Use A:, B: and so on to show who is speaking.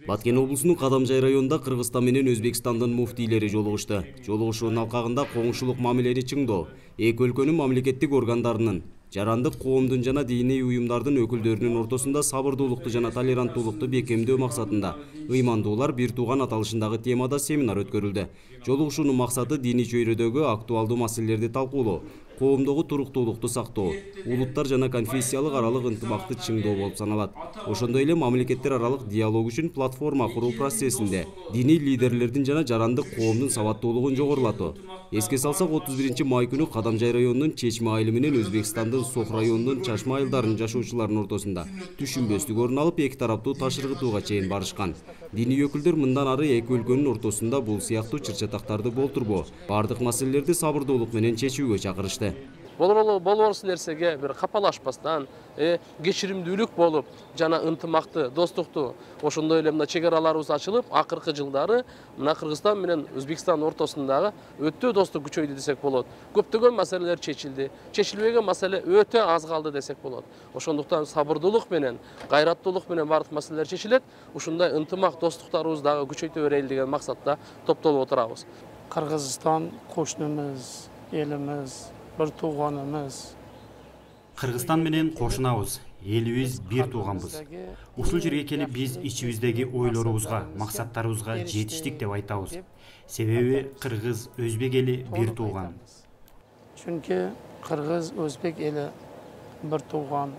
A: Баткен облусунун Кадамжай районунда Кыргызстан менен Өзбекстандын муфтийлери жолугушту. Жолугушуунун алкагында коңшулук мамилени чыңдоо, эки өлкөнүн мамлекеттик органдарынын, жарандык коомдун жана диний уюмдардын өкүлдөрүнүн ортосунда сабырдуулукту жана толеранттуулукту бекемдөө максатында ыймандуулар бир тууган аталышындагы темада семинар өткөрүлдү. Жолугушуунун максаты диний чөйрөдөгү актуалдуу маселелерди талкуулоо, коомдогу туруктуулукту сактоо, улуттар жана конфессиялык аралык ынтымакты чыңдоо болуп саналат. Ошондой эле мамлекеттер аралык диалог үчүн платформа куруу процессинде диний лидерлердин жана жарандык коомдун сабаттуулугун жогорулатуу. Эске салсак, 31 май күнү Кадамжай районунун Чечме айылы менен Өзбекстандын Сох районунун Чашма айылдарынын жашоочуларынын ортосунда түшүнбөстүк орун алып, эки тараптуу таш ыргытууга чейин барышкан. Диний өкүлдөр мындан ары эки өлкөнүн ортосунда бул сыяктуу чыр-чатактарды болтурбоо, бардык маселелерди сабырдуулук менен чечүүгө чакырышты.
B: Болборсу нерсеге бир капалашпастан, кечиримдүүлүк болуп, жана ынтымакты, достукту, ошондой эле мына чек араларыбыз ачылып, акыркы жылдары мына Кыргызстан менен Өзбекстан ортосундагы өтө достук күчөйдү десек болот. Көптөгөн маселелер чечилди. Чечилбеген маселе өтө аз калды десек болот. Ошондуктан сабырдуулук менен, гайраттуулук менен бардык маселелер чечилет. Ушундай ынтымак, достуктарыбызды дагы күчөйтө берели деген максатта топтолуп отурабыз.
C: Кыргызстан кошунубуз, элибиз, bir tuğanımız.
D: Кыргызстан менен кошунабыз, элибиз бир тууганбыз. Ушул жерге келип биз ичибиздеги ойлорубузга, максаттарыбызга жетиштик деп айтабыз. Себеби кыргыз, өзбек эли бир тууган.
C: Çünkü Kırgız, Özbek eli bir tuğan.